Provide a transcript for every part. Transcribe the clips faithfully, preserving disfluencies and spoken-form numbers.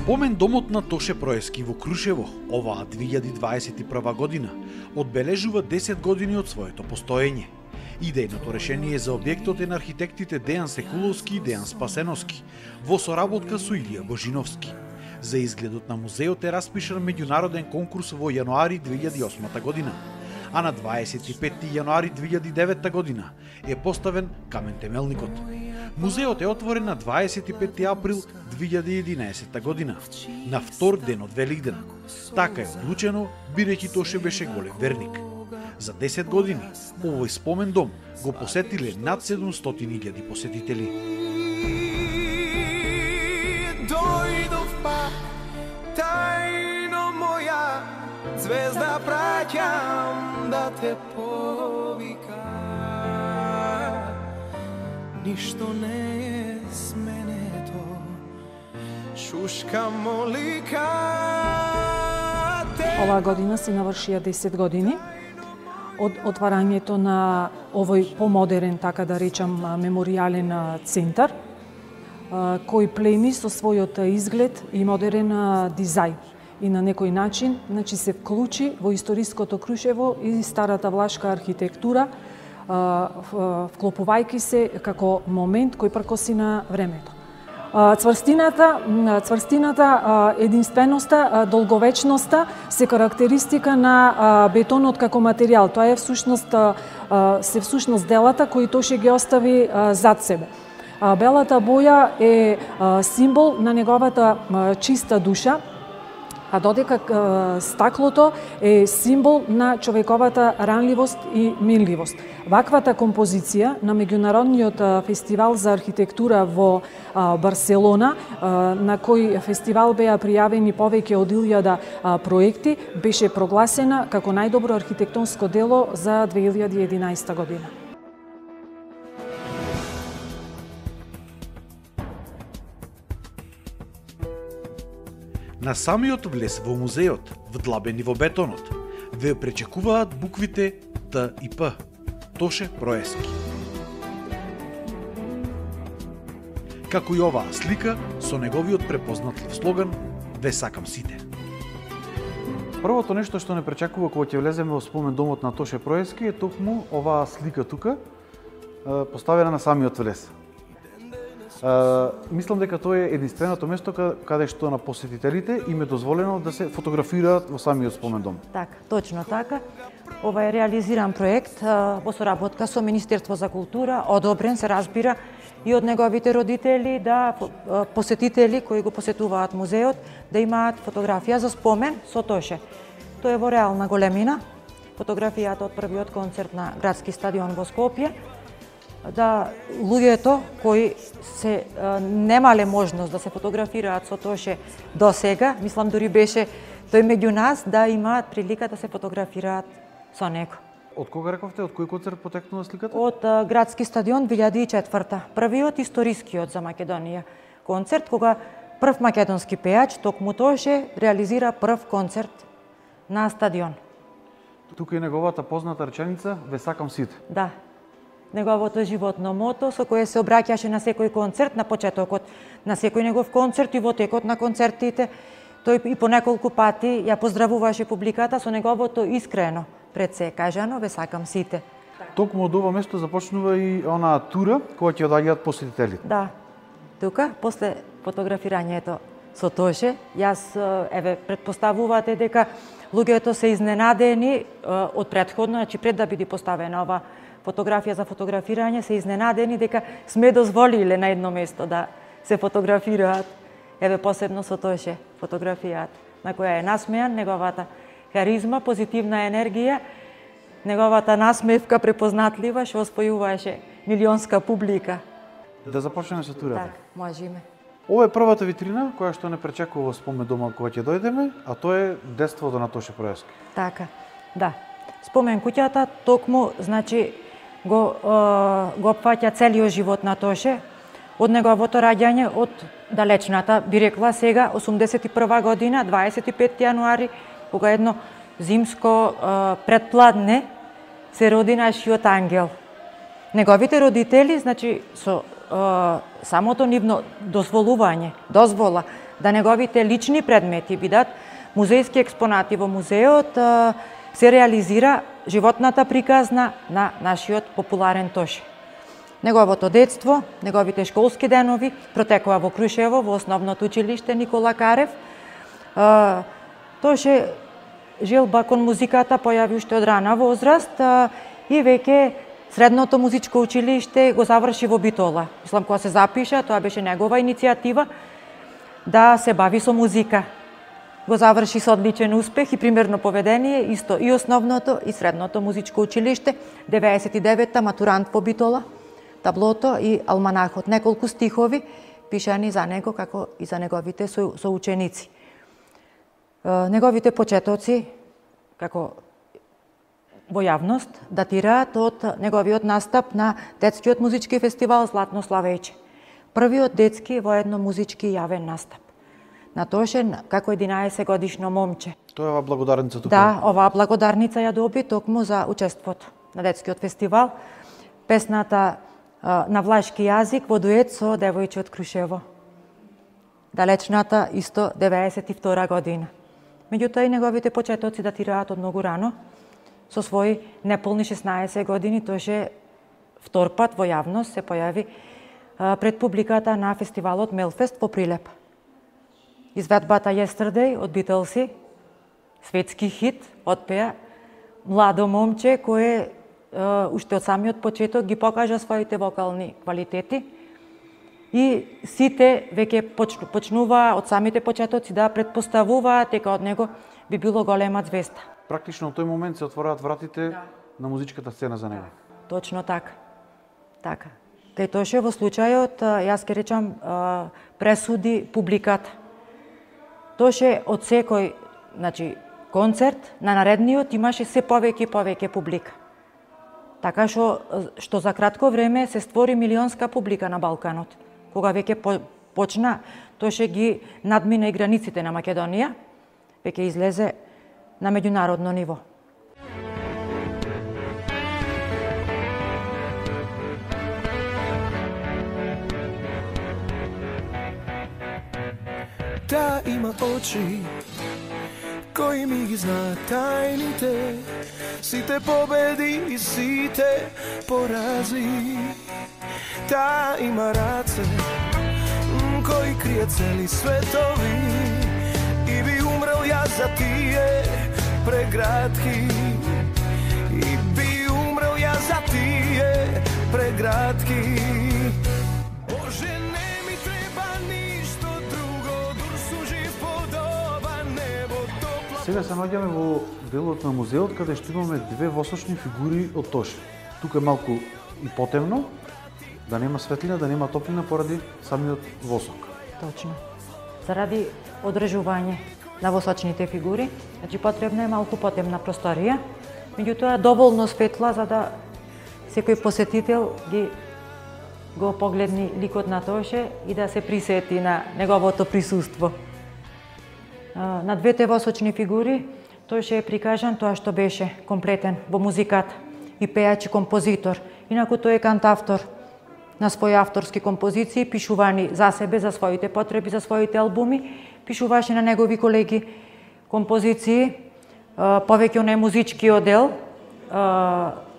Спомен домот на Тоше Проески во Крушево, оваа две илјади дваесет и прва година, одбележува десет години од своето постоење. Идејното решение за објектот е на архитектите Дејан Секуловски и Дејан Спасеновски, во соработка со Илија Божиновски. За изгледот на музеот е распишан меѓународен конкурс во јануари две илјади и осма година, а на дваесет и петти јануари две илјади и девета година е поставен камен темелникот. Музеот е отворен на дваесет и петти април две илјади и единаесета година, на втор ден од Великден. Така е одлучено, бидејќи Тоше беше голем верник. За десет години овој спомен дом го посетиле над седумстотини илјади посетители. Дојдов пак, тајно моја звезда, праќам да те повика. Ништо не е сменето, шушка молика. Оваа година се навршија десет години од отварањето на овој помодерен, така да речам, меморијален центар, кој плени со својот изглед и модерен дизајн. И на некој начин, значи, се вклучи во историското Крушево и старата влашка архитектура, вклопувајќи се како момент кој пркоси на времето. Цврстината, цврстината, единственоста, долговечноста се карактеристика на бетонот како материјал. Тоа е всушност се всушност делата кои Тоше ги остави зад себе. Белата боја е символ на неговата чиста душа, а додека стаклото е символ на човековата ранливост и минливост. Ваквата композиција на меѓународниот фестивал за архитектура во Барселона, на кој фестивал беа пријавени повеќе од илјада проекти, беше прогласена како најдобро архитектонско дело за две илјади и единаесета година. На самиот влез во музеот, вдлабени во бетонот, ве пречекуваат буквите Т и П. Тоше Проески. Како и оваа слика со неговиот препознатлив слоган "Ве сакам сите". Првото нешто што не пречекува кога ќе влеземе во спомен домот на Тоше Проески е токму оваа слика тука, поставена на самиот влез. Uh, мислам дека тоа е единственото место каде што на посетителите им е дозволено да се фотографираат во самиот спомен дом. Така, точно така. Ова е реализиран проект uh, во соработка со Министерство за култура, одобрен се разбира и од неговите родители, да uh, посетители кои го посетуваат музеот да имаат фотографија за спомен со Тоше. Тоа е во реална големина. Фотографијата од првиот концерт на градски стадион во Скопје, да луѓето кои се а, немале можност да се фотографираат со Тоше до сега, мислам дури беше тој меѓу нас, да имаат прилика да се фотографираат со него. Од кога рековте, од кој концерт потекнува сликата? Од а, градски стадион две илјади и четврта. Првиот историскиот за Македонија концерт, кога прв македонски пејач, токму Тоше, реализира прв концерт на стадион. Тука е неговата позната реченица "Ве сакам сите". Да. Неговото животно мото со кое се обраќаше на секој концерт, на почетокот на секој негов концерт и во текот на концертите. Тој и по неколку пати ја поздравуваше публиката со неговото искрено пред се кажано "Ве сакам сите". Токму од ова место започнува и онаа тура која ќе одаѓаат посетителите. Да. Тука, после фотографирањето со Тоше, јас, еве, предпоставувате дека луѓето се изненадени од претходно, значи пред да биде поставена ова фотографија за фотографирање, се изненадени дека сме дозволиле на едно место да се фотографираат. Еве, посебно со Тоше фотографијата, на која е насмејан, неговата харизма, позитивна енергија, неговата насмевка препознатлива, што освојуваше милионска публика. Да започнеме со турата. Так, можеме. Ова е првата витрина која што не пречекува во спомен дома кога ќе дојдеме, а тоа е детството на Тоше Проески. Така, да. Спомен куќата токму, значи, го, го опфаќа целиот живот на Тоше, од неговото раѓање, од далечната, би рекла сега, осумдесет и прва година, дваесет и петти јануари, кога едно зимско предпладне се роди нашиот ангел. Неговите родители, значи, со самото нивно дозволување, дозвола да неговите лични предмети бидат музејски експонати во музеот, се реализира животната приказна на нашиот популарен Тоше. Неговото детство, неговите школски денови протекува во Крушево, во основното училиште Никола Карев. Тоше желба кон музиката појави уште од рана возраст и веќе средното музичко училиште го заврши во Битола. Мислам, кога се запиша, тоа беше негова иницијатива да се бави со музика. Го заврши со одличен успех и примерно поведение, исто и основното и средното музичко училиште, деветдесет и девета матурант во Битола, таблото и алманахот, неколку стихови пишани за него како и за неговите соученици. Неговите почетоци како во јавност датираат од неговиот настап на детскиот музички фестивал Златно славејче. Првиот детски воедно музички јавен настап. На Тоше како единаесет годишно момче. Тоа е ова благодарница тука? Да, оваа благодарница ја доби токму за учеството на детскиот фестивал. Песната на влашки јазик во дует со девојче од Крушево. Далечната исто деветдесет и втора година. Меѓутоа и неговите почетоци датираат од многу рано. Со своји неполни шеснаесет години Тоше втор пат во јавност се појави пред публиката на фестивалот Мелфест во Прилеп. Изведбата Yesterday од Битлси, светски хит, отпеа младо момче кое уште од самиот почеток ги покажа своите вокални квалитети и сите веќе почнуваа од самите почетоци да претпоставуваат дека од него би било голема звезда. Практично во тој момент се отвораат вратите да. на музичката сцена за него. Точно така. Така. Кај Тоше во случајот, јас ке речам, пресуди публиката. Тоше од секој, значи, концерт на наредниот имаше се повеќе и повеќе публика. Така што, што за кратко време се створи милионска публика на Балканот. Кога веќе по, почна, Тоше ги надмина и границите на Македонија, веќе излезе на меѓународно ниво. Таа има очи кои ми ги знаат тајните, сите победи и сите порази. Таа има раце кои кријат цели светови и би умрел јас за тие преградки. И би умрел јас за тие преградки. Боже, не ми треба ништо друго, дур сужив подоба небо топла. Сега се наоѓаме во делот на музеот каде што имаме две восочни фигури од Тоше. Тука е малку и потемно, да нема светлина, да нема топлина поради самиот восок. Точно. Заради одржување на восочните фигури, значи потребна е малку потемна просторија, меѓутоа доволно светла за да секој посетител ги го погледни ликот на Тоше и да се присети на неговото присуство. На двете восочни фигури Тоше е прикажан тоа што беше комплетен во музиката, и пеач и композитор. Инаку тој е кантавтор на своји авторски композиции, пишувани за себе, за своите потреби, за своите албуми, пишуваше на негови колеги композиции, повеќе онај музичкиот дел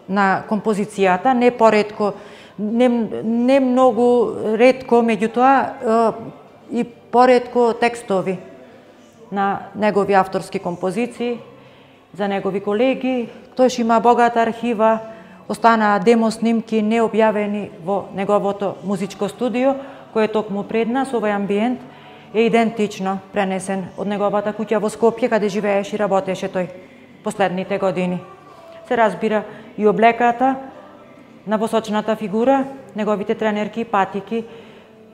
на композицијата, не поретко, не, не многу ретко, меѓутоа и поретко текстови на негови авторски композиции, за негови колеги. Тој има богата архива, останаа демо снимки необјавени во неговото музичко студио, кој е токму пред нас. Овој амбиент е идентично пренесен од неговата куќа во Скопје, каде живееше и работеше тој последните години. Се разбира и облеката на восочната фигура, неговите тренерки и патики.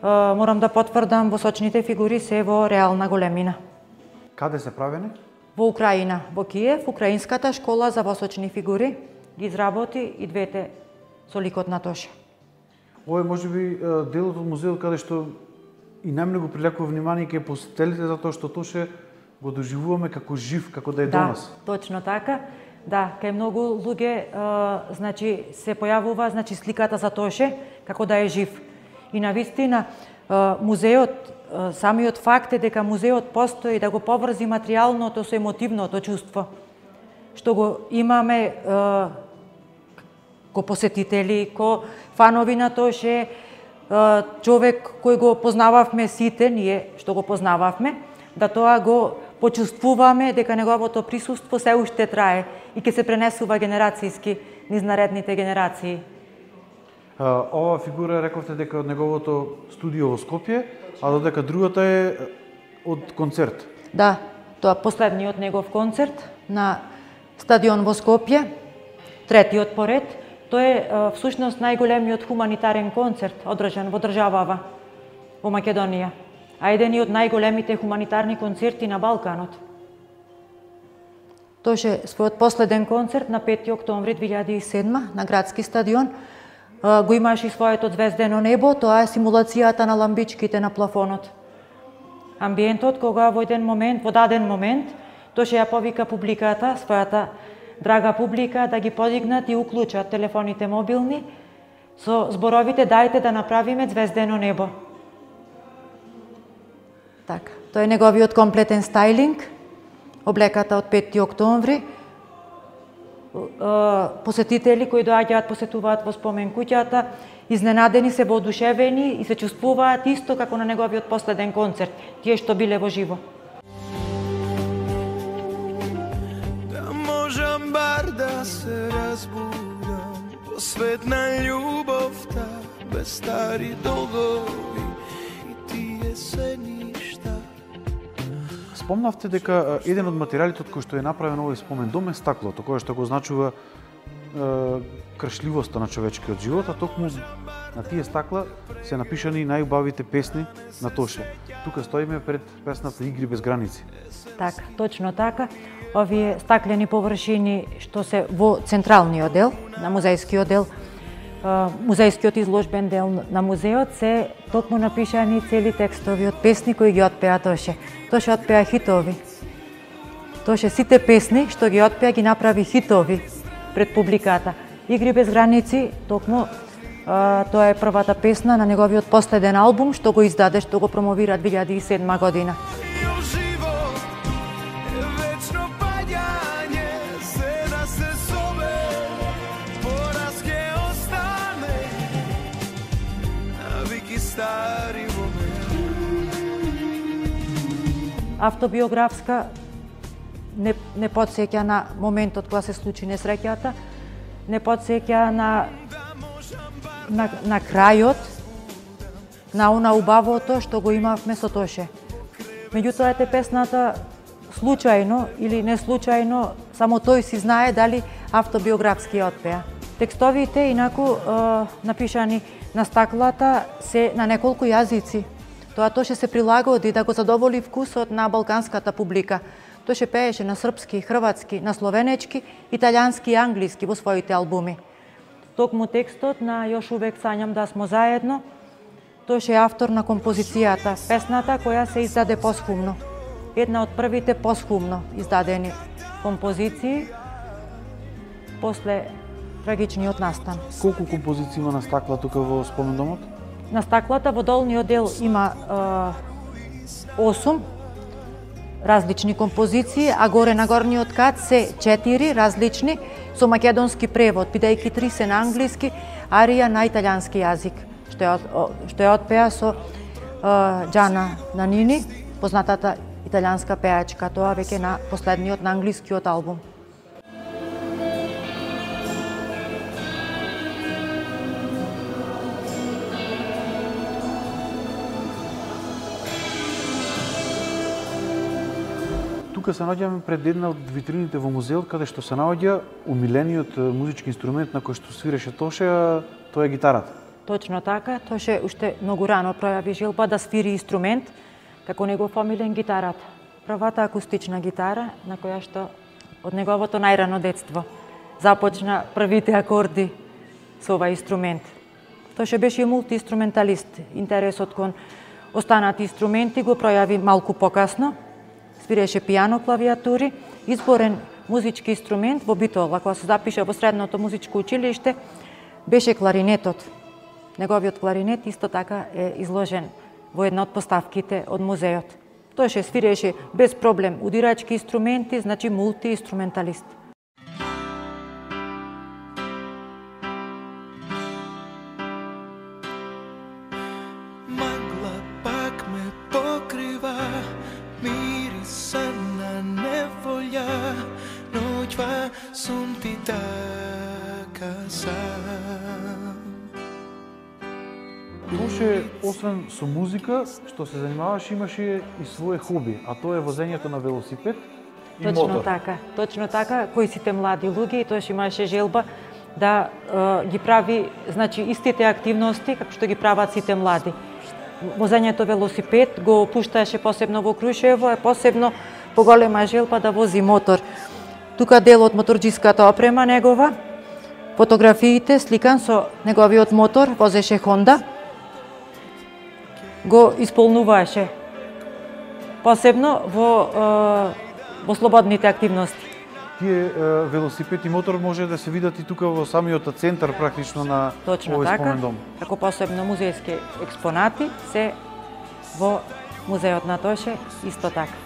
Морам да потврдам, восочните фигури се во реална големина. Каде се правени? Во Украина, во Киев, Украинската школа за восочни фигури ги изработи и двете со ликот на Тоше. Ова е можеби делот од музеот каде што и најмногу привлекува внимание кај посетителите, затоа што Тоше го доживуваме како жив, како да е да, до нас. Точно така. Да, кај многу луѓе значи се појавува значи сликата за Тоше како да е жив. И навистина музеот самиот факт е дека музеот постои да го поврзи материјалното со емотивното чувство, што го имаме ко посетители, ко фанови на Тоше, човек кој го познававме сите, ние што го познававме, да тоа го почувствуваме дека неговото присуство се уште трае и ќе се пренесува генерацијски низ наредните генерации. Ова фигура рековте дека од неговото студио во Скопје, а додека другата е од концерт. Да, тоа последниот негов концерт на стадион во Скопје, третиот поред. Тој е всушност најголемиот хуманитарен концерт одржан во државава во Македонија, а еден од најголемите хуманитарни концерти на Балканот. Тоше својот последен концерт на пети октомври две илјади и седма на градски стадион го имаше и своето звездено небо, тоа е симулацијата на ламбичките на плафонот. Амбиентот кога во еден момент, во даден момент, Тоше ја повика публиката, својата драга публика, да ги подигнат и уклучат телефоните мобилни со зборовите дајте да направиме звездено небо. Така, тој е неговиот комплетен стајлинг, облеката од пети октомври, посетители кои доаѓаат, посетуваат во спомен куќата, изненадени, се воодушевени и се чувствуваат исто како на неговиот последен концерт, тие што биле во живо. Да можам бар да се разбудам, посвет на љубовта, без стари долгови и тие се ништа. Спомнавте дека еден од материјалите од кој што е направен овој спомен дом е стаклото, кое што го означува е, кршливоста на човечкиот живот, а токму на тие стакла се напишани најубавите песни на Тоше. Тука стоиме пред песната Игри без граници. Така, точно така. Овие стаклени површини што се во централниот дел, на музејскиот дел, музејскиот изложбен дел на музеот, се токму напишани цели текстови од песни кои ги отпеа Тоше. Тоше отпеа хитови. Тоше сите песни што ги отпеа ги направи хитови пред публиката. Игри без граници, токму а, тоа е првата песна на неговиот последен албум што го издаде, што го промовира две илјади и седма година. Автобиографска, не, не подсеќа на моментот кога се случи несреќата, не подсеќа на, на, на крајот, на она убавото што го имавме со Тоше. Меѓутоа, ете песната случајно или не случајно, само тој си знае дали автобиографски отпеа. Текстовите, инаку, е, напишани на стаклата, се на неколку јазици. Тоа Тоше се прилагоди да го задоволи вкусот на балканската публика. Тоше пееше на српски, хрватски, на словенечки, италијански и англиски во своите албуми. Токму текстот на Још увек сањам да смо заедно, Тоше е автор на композицијата, песната која се издаде посхумно. Една од првите посхумно издадени композиции после трагичниот настан. Колку композиции има на стакла тука во спомендомот? На стаклата во долниот дел има осум различни композиции, а горе на горниот кат се четири различни со македонски превод, бидејќи три се на англиски, арија на италијански јазик, што е, што е отпеа со Џана Нанини, познатата италијанска пеачка, тоа веќе на последниот на англискиот албум. Тука се наоѓаме пред една од витрините во музеот, каде што се наоѓа умилениот музички инструмент на кој што свиреше Тоше, а тоа е гитарата. Точно така, Тоше уште многу рано пројави желба да свири инструмент, како негов омилен гитарата. Првата акустична гитара, на која што од неговото најрано детство започна првите акорди со овај инструмент. Тоше беше мултиинструменталист. Интересот кон останати инструменти го пројави малку покасно. Свиреше пијано, клавиатури, изборен музички инструмент во Битола, кога се запиша во средното музичко училиште, беше кларинетот. Неговиот кларинет исто така е изложен во една од поставките од музеот. Тој ше свиреше без проблем удирачки инструменти, значи мултиинструменталист. Магла пак ме покрива, мириса на неволја, ноќва сум ти така сам. Тоше, освен со музика, што се занимаваше, имаше и свое хоби, а тоа е возењето на велосипед и Точно мотор. така, точно така, кои сите млади луѓе, и тоаш имаше желба да е, ги прави, значи, истите активности како што ги прават сите млади. Возењето велосипед го пушташе посебно во Крушево, е посебно поголема желба да вози мотор. Тука дел од моторџиската опрема негова, фотографиите сликан со неговиот мотор, возеше Хонда, го исполнуваше посебно во е, во слободните активности. Тие е, велосипед и мотор може да се видат и тука во самиот центар практично на Точно овој така, спомендом. како посебно музејски експонати се во музеот на Тоше исто така.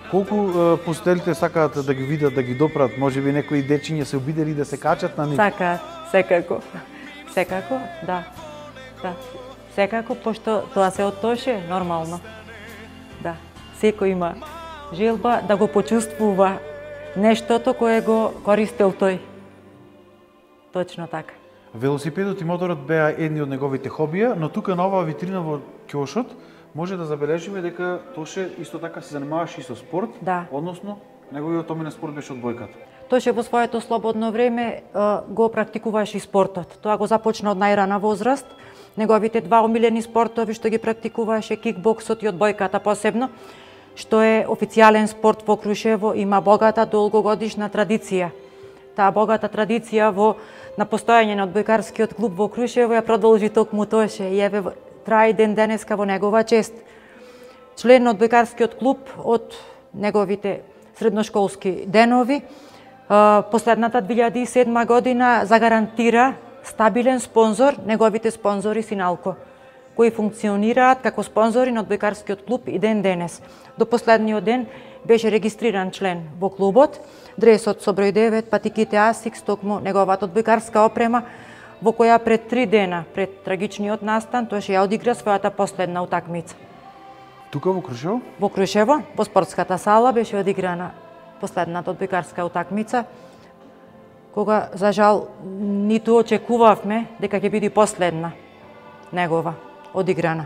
Колку е, посетителите сакаат да ги видат, да ги допрат, можеби некои дечиња се обидели да се качат на нив? Сака, секако. Секако, да. Да. Секако, пошто тоа се од Тоше, нормално. Да. Секој има желба да го почувствува нештото кое го користел тој. Точно така. Велосипедот и моторот беа едни од неговите хобија, но тука на оваа витрина во ќошот може да забележиме дека Тоше исто така се занимаваше и со спорт, Да. односно неговиот омилен спорт беше одбојката. Тоше во своето слободно време е, го практикуваше и спортот. Тоа го започна од најрана возраст. Неговите два омилени спортови што ги практикуваше, кикбоксот и одбојката посебно, што е официјален спорт во Крушево, има богата долгогодишна традиција. Таа богата традиција во на постојање на одбојкарскиот клуб во Крушево ја продолжи токму Тоше и еве трае ден денеска во негова чест. Член на одбојкарскиот клуб од неговите средношколски денови, последната две илјади и седма година загарантира стабилен спонзор, неговите спонзори Синалко, кои функционираат како спонзори на одбојкарскиот клуб и ден денес. До последниот ден беше регистриран член во клубот, дресот со број девет, патиките Асикс, токму неговата одбојкарска опрема, во која пред три дена, пред трагичниот настан, тој ја одигра својата последна утакмица. Тука во Крушево? Во Крушево, во спортската сала, беше одиграна последната одбојкарска утакмица, кога, за жал, ниту очекувавме дека ќе биде последна негова одиграна.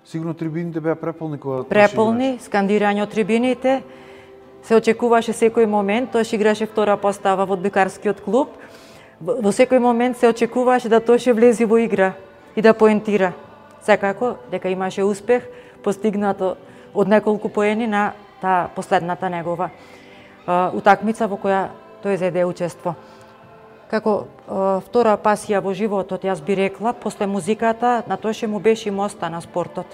Сигурно трибините беа преполни кога Тоше Преполни, скандирање од трибините, се очекуваше секој момент, тој играше втора постава во одбојкарскиот клуб, во секој момент се очекуваше да Тоше влези во игра и да поентира. Секако, дека имаше успех, постигнато од неколку поени на таа последната негова утакмица во која тој зеде учество. Како е, втора пасија во животот, јас би рекла, после музиката, на Тоше му беше моста на спортот.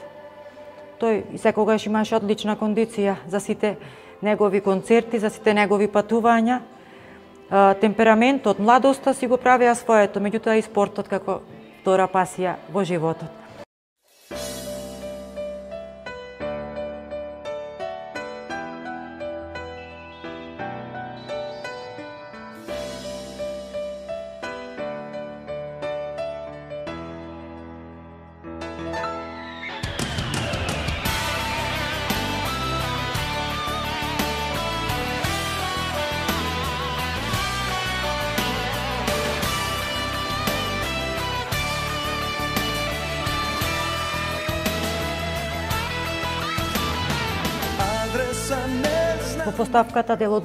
Тој и секогаш имаше одлична кондиција за сите негови концерти, за сите негови патувања. Е, темпераментот, младоста си го правеа своето, меѓутоа и спортот како втора пасија во животот. Во поставката дел од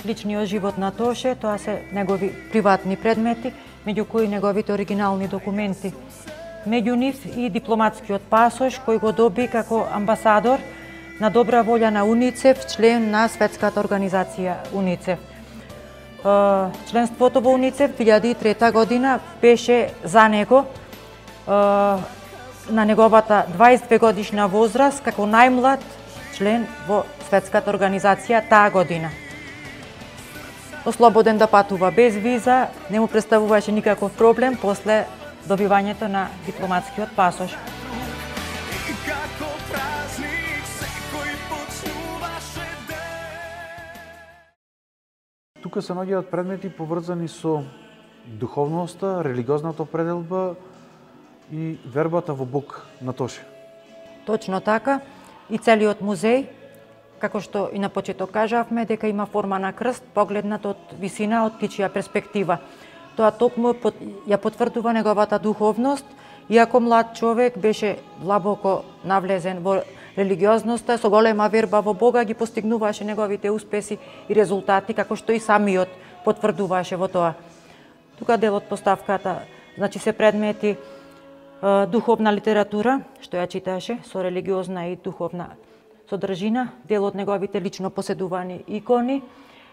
личниот живот на Тоше, тоа се негови приватни предмети, меѓу кои неговите оригинални документи. Меѓу нив и дипломатскиот пасош кој го доби како амбасадор на добра волја на УНИЦЕФ, член на светската организација УНИЦЕФ. Членството во УНИЦЕФ две илјади и трета година беше за него на неговата дваесет и две годишна возраст како најмлад член во светската организација таа година. Ослободен да патува без виза, не му представуваше никаков проблем после добивањето на дипломатскиот пасош. тука се наоѓаат предмети поврзани со духовноста, религиозната определба и вербата во Бог на Тоше. Точно така. И целиот музеј, како што и на почеток кажавме, дека има форма на крст, погледнат од висина, од птичја перспектива. Тоа токму ја потврдува неговата духовност, иако млад човек беше длабоко навлезен во религиозноста, со голема верба во Бога ги постигнуваше неговите успеси и резултати, како што и самиот потврдуваше во тоа. Тука дел од поставката, значи се предмети е, духовна литература, што ја читаше, со религиозна и духовна содржина, дел од неговите лично поседувани икони,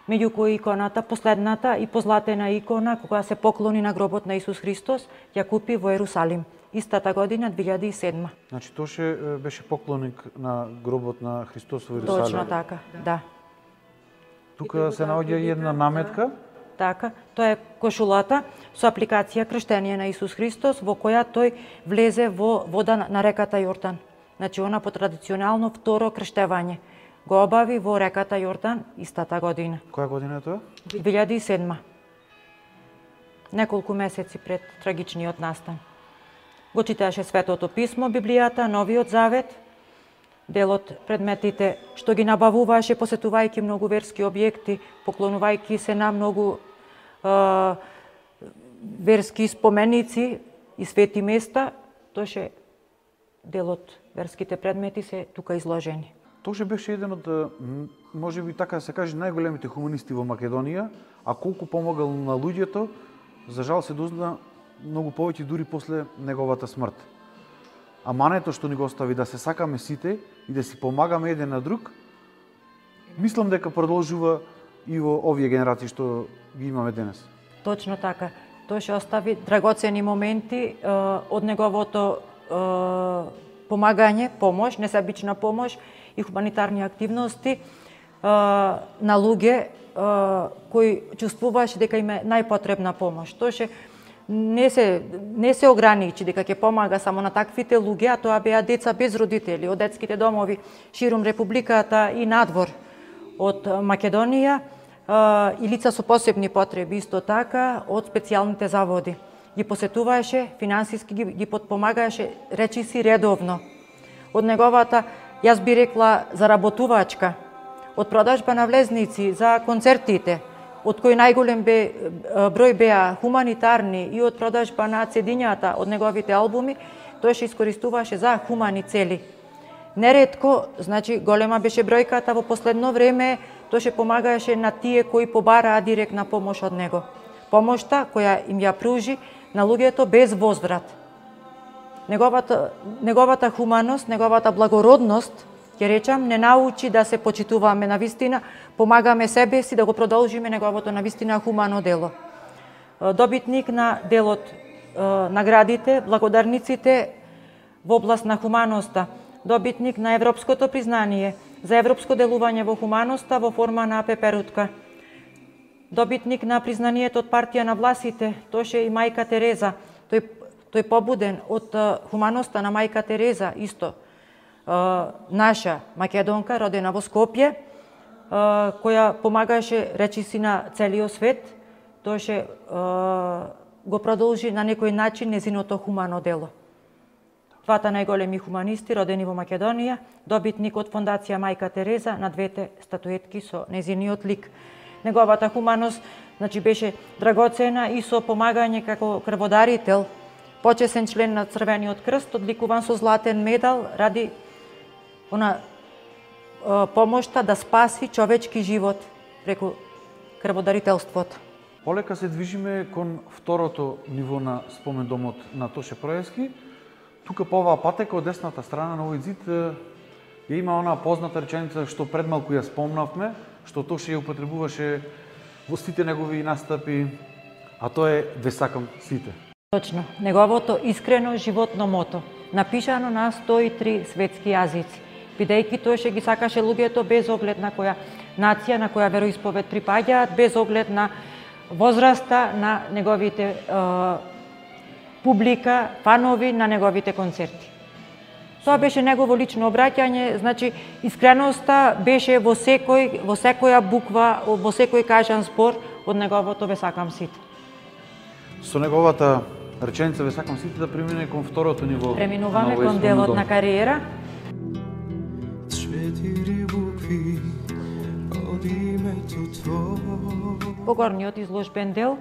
меѓу кои иконата, последната и позлатена икона, кога се поклони на гробот на Исус Христос, ја купи во Ерусалим, истата година, две илјади и седма. Значи, Тоше беше поклоник на гробот на Христос во Ерусалим. Точно така, да. Тука се наоѓа и една наметка. Така, тоа е кошулата со апликација крштение на Исус Христос, во која тој влезе во вода на реката Јордан. Значи, она по традиционално второ крштевање го обави во реката Јордан истата година. Која година е тоа? две илјади и седма. Неколку месеци пред трагичниот настан. Го читаше Светото писмо, Библијата, Новиот Завет, дел од предметите што ги набавуваше посетувајќи многу верски објекти, поклонувајќи се на многу е, верски споменици и свети места, тоше дел од верските предмети се тука изложени. Тоше беше еден од, може би така да се каже, најголемите хуманисти во Македонија, а колку помогал на луѓето, за жал се дозна многу повеќе дури после неговата смрт. А мането што ни го остави да се сакаме сите и да си помагаме еден на друг, мислам дека продолжува и во овие генерации што ги имаме денес. Точно така. Тој ќе остави драгоцени моменти е, од неговото е, помагање, помош, несебична помош и хуманитарни активности е, на луѓе е, кои чувствуваше дека им е најпотребна помош. Тој не се не се ограничи дека ќе помага само на таквите луѓе, а тоа беа деца без родители од детските домови ширум републиката и надвор од Македонија и лица со посебни потреби исто така од специјалните заводи. Ги посетуваше, финансиски ги, ги подпомагаше речиси редовно. Од неговата, јас би рекла, заработувачка, од продажба на влезници за концертите, од кои најголем бе, број беа хуманитарни и од продажба на цедињата од неговите албуми, тој се искористуваше за хумани цели. Неретко, значи, голема беше бројката во последно време, тој се помагаше на тие кои побараа директна помош од него. Помошта која им ја пружи на луѓето без возврат. Неговата, неговата хуманост, неговата благородност, ќе речам, не научи да се почитуваме на вистина, помагаме себе си да го продолжиме неговото на вистина хумано дело. Добитник на делот наградите, благодарниците во област на хуманоста, добитник на европското признание за европско делување во хуманоста во форма на пеперутка. Добитник на признанието од партија на власите, тоше и мајка Тереза, тој, тој побуден од хуманоста на мајка Тереза, исто наша македонка, родена во Скопје, која помагаше речиси на целиот свет, тоше го продолжи на некој начин незиното хумано дело. Двата најголеми хуманисти родени во Македонија, добитник од Фондација Мајка Тереза на двете статуетки со незиниот лик. Неговата хуманост, значи, беше драгоцена и со помагање како крводарител, почесен член на Црвениот крст, одликуван со златен медал ради она помошта да спаси човечки живот преку крводарителството. Полека се движиме кон второто ниво на спомендомот на Тоше Проевски. Тука по оваа патека од десната страна на овој зид ја има онаа позната реченица што пред малку ја спомнавме, што Тоше ја употребуваше во сите негови настапи, а тоа е "Ве сакам сите". Точно, неговото искрено животно мото, напишано на сто и три светски јазици, бидејќи Тоше ги сакаше луѓето без оглед на која нација, на која вероисповед припаѓаат, без оглед на возраста на неговите е, публика, фанови на неговите концерти. Тоа беше негово лично обраќање, значи искреноста беше во секој во секоја буква, во секој кажан збор од неговото "Ве сакам сите". Со неговата реченица "Ве сакам сите" да премине кон второто ниво. Преминуваме кон делот на кариера. Четири букви од името твое. По горниот изложбен дел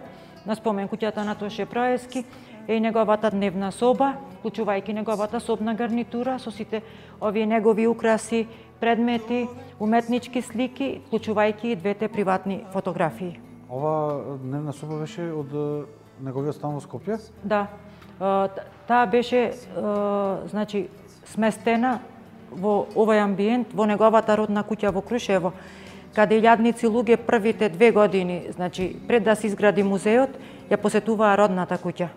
на спомен куќата на Тоше Проески е и неговата дневна соба, вклучувајќи неговата собна гарнитура со сите овие негови украси, предмети, уметнички слики, вклучувајќи и двете приватни фотографии. Ова дневна соба беше од неговиот стан во Скопје? Да. Таа беше значи сместена во овој амбиент во неговата родна куќа во Крушево, каде илјадници луѓе првите две години, значи пред да се изгради музеот, ја посетуваа родната куќа.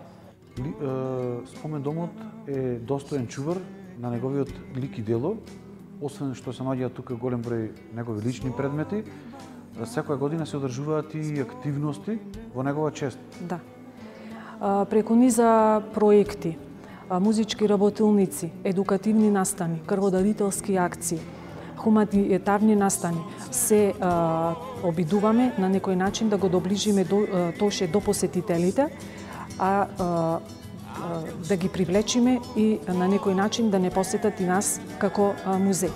Спомен домот е достоен чувар на неговиот лик и дело, освен што се наоѓаат тука голем број негови лични предмети, секоја година се одржуваат и активности во негова чест. Да. Преку низа проекти, музички работилници, едукативни настани, крводарителски акции, хуманитарни настани, се а, обидуваме на некој начин да го доближиме до, Тоше до посетителите, а, а да ги привлечиме и на некој начин да не посетат и нас како а, музеј.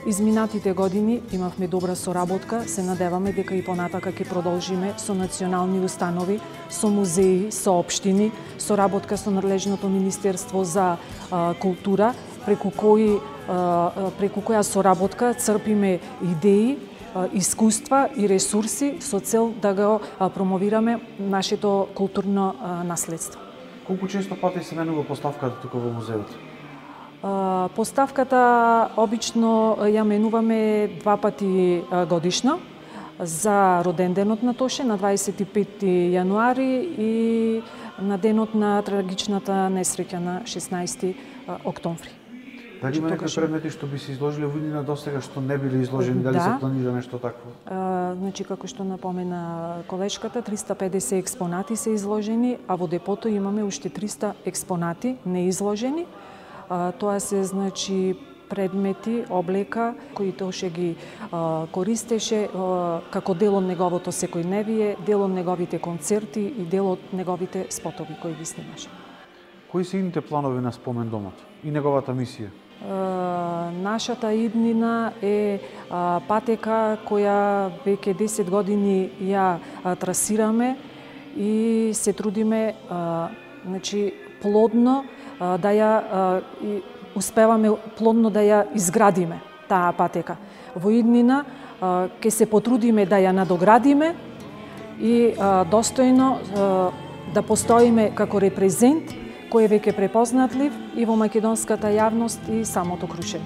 Изминатите години имавме добра соработка, се надеваме дека и понатака ќе продолжиме со национални установи, со музеи, со општини, соработка со надлежното Министерство за а, култура, преку кои а, преку која соработка црпиме идеи, а, искуства и ресурси со цел да го а, промовираме нашето културно а, наследство. Колку често пати се менува поставката тука во музеот? Поставката обично ја менуваме два пати годишно, за роденденот на Тоше на дваесет и пети јануари и на денот на трагичната несреќа на шеснаесети октомври. Дали има некои предмети што би се изложиле во иднина досега што не биле изложени, дали да. се планира нешто такво? А, значи, како што напомена колешката, триста и педесет експонати се изложени, а во депото имаме уште триста експонати неизложени. А, тоа се, значи, предмети, облека, кои Тоше ги а, користеше а, како дел од неговото секојдневие, дел од неговите концерти и дел од неговите спотови кои ги снимаше. Кои се идните планови на Спомен домот и неговата мисија? Uh, нашата иднина е uh, патека која веќе десет години ја uh, трасираме и се трудиме uh, значи, плодно uh, да ја uh, и успеваме плодно да ја изградиме таа патека. Во иднина uh, ќе се потрудиме да ја надоградиме и uh, достојно uh, да постоиме како репрезент кој е веќе препознатлив и во македонската јавност и самото Крушево.